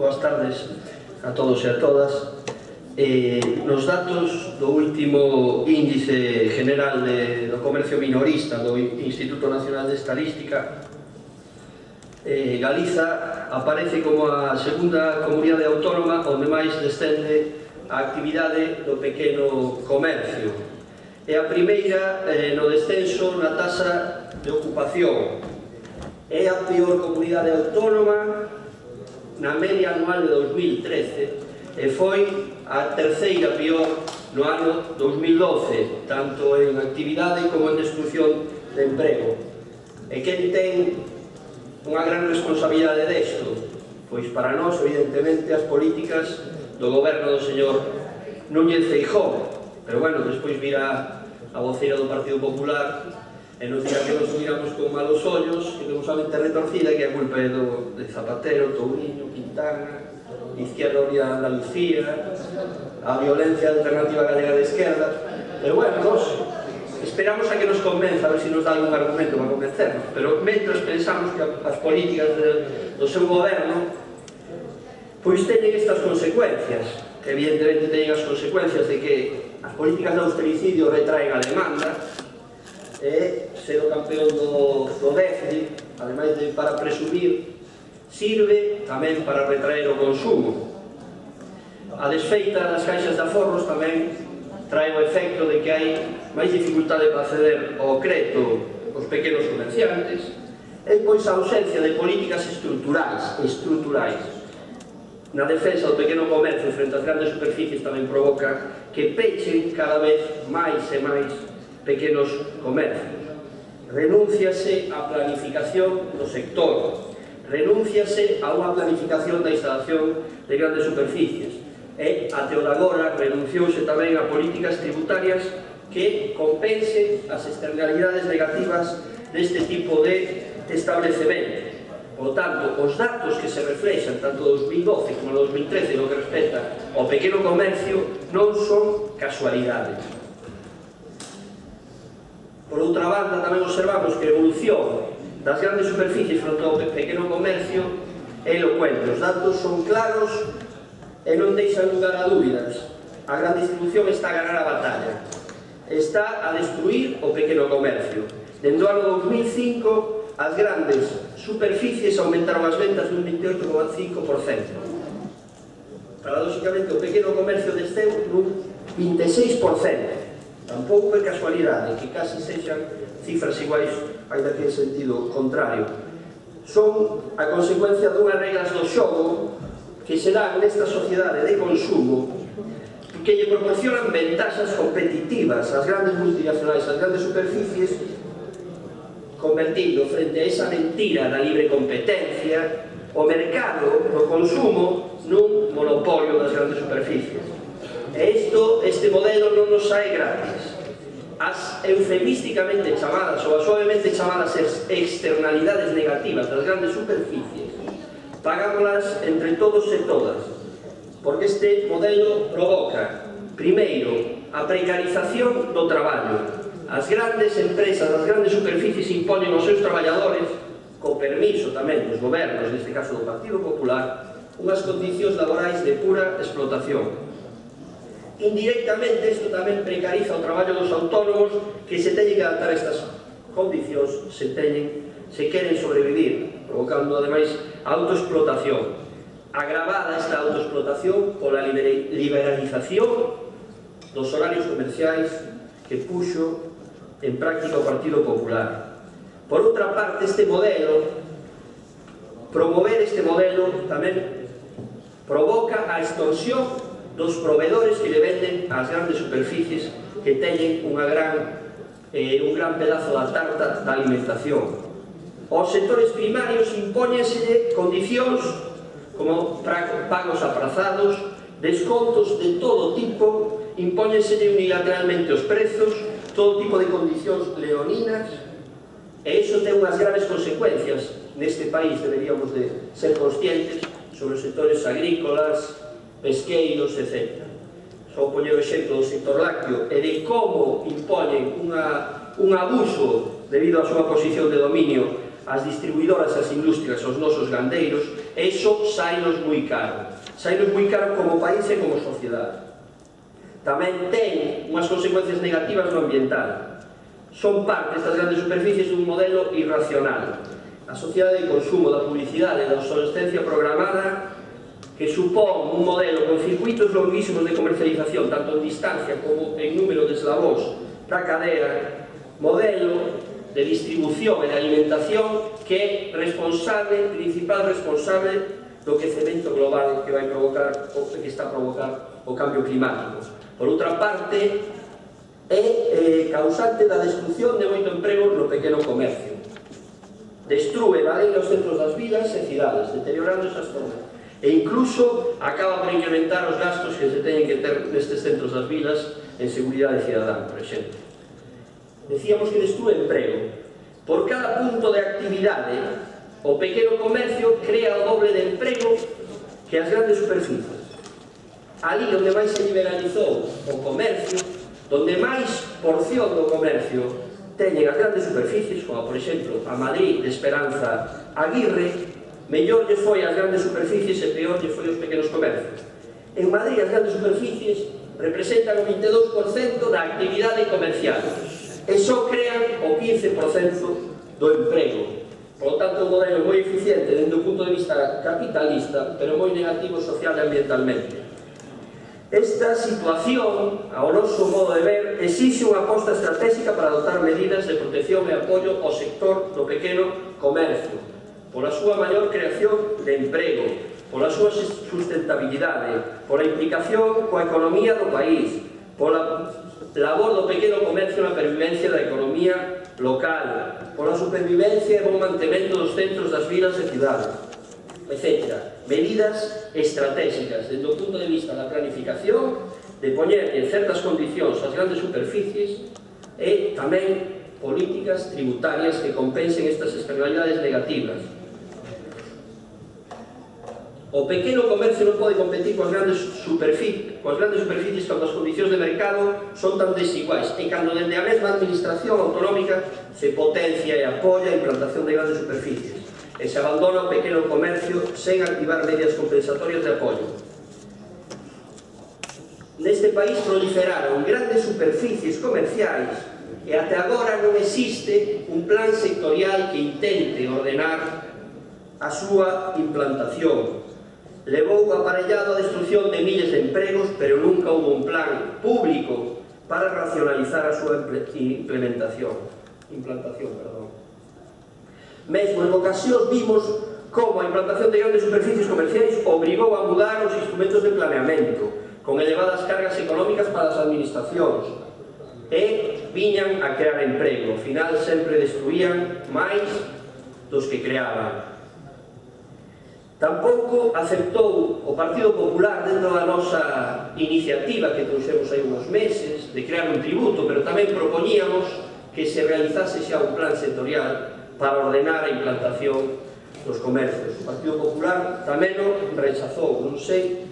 Boas tardes a todos e a todas. Nos datos do último índice general do comercio minorista do Instituto Nacional de Estadística, Galiza aparece como a segunda comunidade autónoma onde máis descende a actividade do pequeno comercio. É a primeira no descenso na taxa de ocupación. É a peor comunidade autónoma na media anual de 2013 e foi a terceira peor no ano 2012, tanto en actividade como en destrucción de emprego. E quen ten unha gran responsabilidade desto? Pois para nós, evidentemente, as políticas do goberno do señor Núñez Feijóo. Pero bueno, despois virá a voceira do Partido Popular e nos dirá que nos miramos con malos ollos, que temos a mente retorcida, que a culpa é de Zapatero, Touriño, Quintana, Izquierda Unida de Andalucía, a violencia alternativa galega de esquerda. Pero bueno, nos esperamos a que nos convenza, a ver se nos dá algún argumento para convencernos. Pero mentras pensamos que as políticas do seu goberno pois teñen estas consecuencias. Evidentemente teñen as consecuencias de que as políticas de austericidio retraen a demanda e ser o campeón do déficit, ademais de para presumir, sirve tamén para retraer o consumo. A desfeita das caixas de aforros tamén trae o efecto de que hai máis dificultade para acceder ao crédito os pequenos comerciantes e pois a ausencia de políticas estruturais na defensa do pequeno comercio frente ás grandes superficies tamén provoca que pechen cada vez máis e máis pequenos comercios. Renúnciase á planificación do sector, renúnciase a unha planificación da instalación de grandes superficies e, até o de agora, renunciouse tamén a políticas tributarias que compensen as externalidades negativas deste tipo de establecemento. Por tanto, os datos que se reflexan tanto do 2012 como do 2013 no que respecta ao pequeno comercio non son casualidades. Por outra banda, tamén observamos que a evolución das grandes superficies fronte ao pequeno comercio é elocuente. Os datos son claros e non deixan lugar a dúbidas. A gran distribución está a ganar a batalla. Está a destruir o pequeno comercio. Dende o ano 2005, as grandes superficies aumentaron as ventas dun 28,5%. Paradóxicamente, o pequeno comercio desceu nun 26%. Tampouco é casualidade que casi sexan cifras iguais, ainda que en sentido contrario. Son a consecuencia dunhas reglas do xogo que se dan nesta sociedade de consumo que lle proporcionan ventaxas competitivas ás grandes multinacionais, ás grandes superficies, convertindo frente a esa mentira da libre competencia o mercado do consumo nun monopolio das grandes superficies. E este modelo non nos sae gratis. As eufemísticamente chamadas ou as suavemente chamadas externalidades negativas das grandes superficies pagámolas entre todos e todas, porque este modelo provoca, primeiro, a precarización do traballo. As grandes empresas, as grandes superficies impoñen aos seus traballadores, co permiso tamén dos gobernos, neste caso do Partido Popular, unhas condicións laborais de pura explotación. Indirectamente, isto tamén precariza o traballo dos autónomos que se teñen que adaptar a estas condicións se queren sobrevivir, provocando, ademais, autoexplotación. Agravada esta autoexplotación pola liberalización dos horarios comerciais que puxo en práctica o Partido Popular. Por outra parte, promover este modelo tamén provoca a extorsión dos proveedores que lle venden ás grandes superficies que teñen un gran pedazo da tarta da alimentación. Aos sectores primarios impóñenselle condicións como pagos aprazados, descontos de todo tipo, impóñenselle unilateralmente os prezos, todo tipo de condicións leoninas, e iso ten unhas graves consecuencias. Neste país deberíamos de ser conscientes sobre os sectores agrícolas, pesqueiros, etc. Só poñer o exemplo do sector lácteo e de como impoñen un abuso debido á súa posición de dominio as distribuidoras, as industrias, aos nosos gandeiros, Eso sainos moi caro. Sainos moi caro como país e como sociedade. Tamén ten unhas consecuencias negativas no ambiental. Son parte estas grandes superficies dun modelo irracional. A sociedade de consumo, da publicidade, da obsolescencia programada, que supón un modelo con circuitos longuísimos de comercialización, tanto en distancia como en número de eslabóns da cadea, modelo de distribución e de alimentación que é principal responsable do quecemento global que vai provocar, ou que está a provocar o cambio climático. Por outra parte, é causante da destrucción de moito emprego no pequeno comercio. Destrúe, vadeira os centros das vilas e cidades, deteriorando esas zonas. E incluso acaba por incrementar os gastos que se teñen que ter nestes centros das vilas en seguridade cidadán, por exemplo. Decíamos que destrúe emprego. Por cada punto de actividade, o pequeno comercio crea o doble de emprego que as grandes superficies. Ali onde máis se liberalizou o comercio, onde máis porción do comercio teñen as grandes superficies, como por exemplo a Madrid de Esperanza Aguirre, mellor lle foi as grandes superficies e peor lle foi os pequenos comercios. En Madrid as grandes superficies representan o 22% da actividade comercial e só crean o 15% do emprego. Por lo tanto, un modelo moi eficiente dende o punto de vista capitalista, pero moi negativo social e ambientalmente. Esta situación, ao noso modo de ver, exixe unha aposta estratégica para adoptar medidas de protección e apoio ao sector do pequeno comercio, pola súa maior creación de emprego, pola súa sustentabilidade, pola implicación coa economía do país, pola labor do pequeno comercio na pervivencia da economía local, pola supervivencia e bon mantemento dos centros das vilas e cidades, etc. Medidas estratégicas, desde o punto de vista da planificación, de poñer en certas condicións as grandes superficies e tamén políticas tributarias que compensen estas externalidades negativas. O pequeno comercio non pode competir coas grandes superficies cando as condicións de mercado son tan desiguais e cando dende a mesma administración autonómica se potencia e apoia a implantación de grandes superficies e se abandona o pequeno comercio sen activar medidas compensatorias de apoio. Neste país proliferaron grandes superficies comerciais e até agora non existe un plan sectorial que intente ordenar a súa implantación. Levou aparellado a destrucción de miles de empregos, pero nunca houve un plan público para racionalizar a súa implantación. Mesmo en ocasións vimos como a implantación de grandes superficies comerciais obrigou a mudar os instrumentos de planeamento, con elevadas cargas económicas para as administracións, e viñan a crear emprego. Ao final sempre destruían máis dos que creaban. Tampouco aceptou o Partido Popular dentro da nosa iniciativa que trouxemos hai uns meses de crear un tributo, pero tamén propoñíamos que se realizase xa un plan sectorial para ordenar a implantación dos comercios. O Partido Popular tamén o rechazou, non sei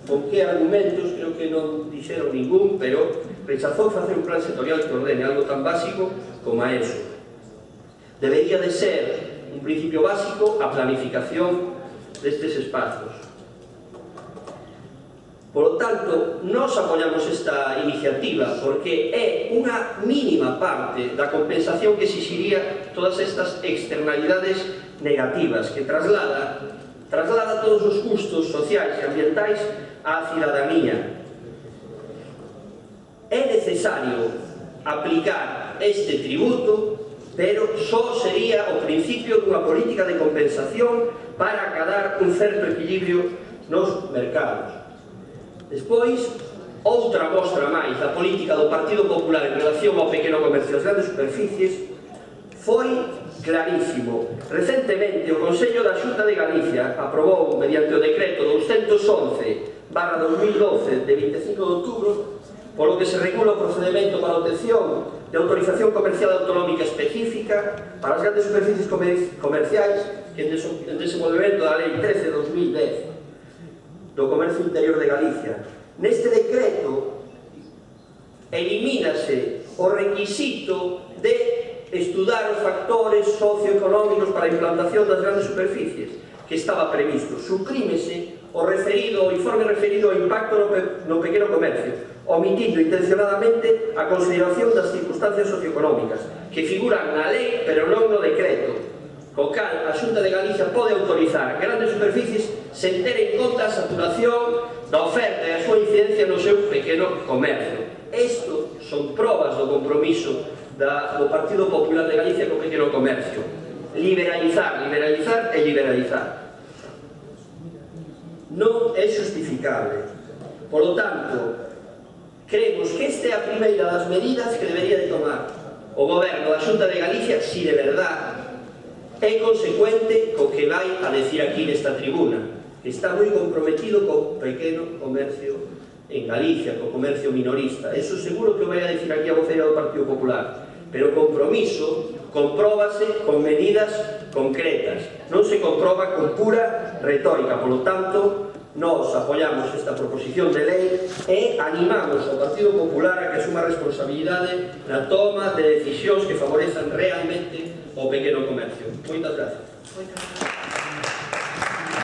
con que argumentos, creo que non dixeron ningún, pero rechazou facer un plan sectorial que ordene algo tan básico como a eso. Debería de ser un principio básico a planificación destes espazos. Por lo tanto, nós apoiamos esta iniciativa porque é unha mínima parte da compensación que exixiría todas estas externalidades negativas que traslada todos os custos sociais e ambientais á cidadanía. É necesario aplicar este tributo, pero só sería o principio dunha política de compensación para acadar un certo equilibrio nos mercados. Despois, outra mostra máis da política do Partido Popular en relación ao pequeno comercio das grandes superficies foi clarísimo. Recentemente, o Consello da Xunta de Galicia aprobou, mediante o decreto 211/2012 de 25 de outubro, polo que se regula o procedimento para a obtención de autorización comercial autonómica específica para as grandes superficies comerciais que en desenvolvemento da Lei 13/2010 do Comercio Interior de Galicia. Neste decreto elimínase o requisito de estudar os factores socioeconómicos para a implantación das grandes superficies, que estaba previsto. Suprímese o informe referido ao impacto no pequeno comercio, omitindo intencionadamente a consideración das circunstancias socioeconómicas que figuran na lei pero non no decreto, co cal a Xunta de Galicia pode autorizar grandes superficies sen ter en conta a saturación da oferta e a súa incidencia no seu pequeno comercio. Isto son probas do compromiso do Partido Popular de Galicia co pequeno comercio. Liberalizar, liberalizar e liberalizar. Non é justificable. Por lo tanto, creemos que esta é a primeira das medidas que debería de tomar o Goberno da Xunta de Galicia, si de verdad é consecuente co que vai a decir aquí nesta tribuna, que está moi comprometido co pequeno comercio en Galicia, co comercio minorista. Eso seguro que o vai a decir aquí a voceira do Partido Popular. Pero o compromiso compróbase con medidas concretas, non se comproba con pura retórica. Por lo tanto, nós apoiamos esta proposición de lei e animamos ao Partido Popular a que asuma responsabilidade na toma de decisións que favorezan realmente o pequeno comercio. Moitas gracias.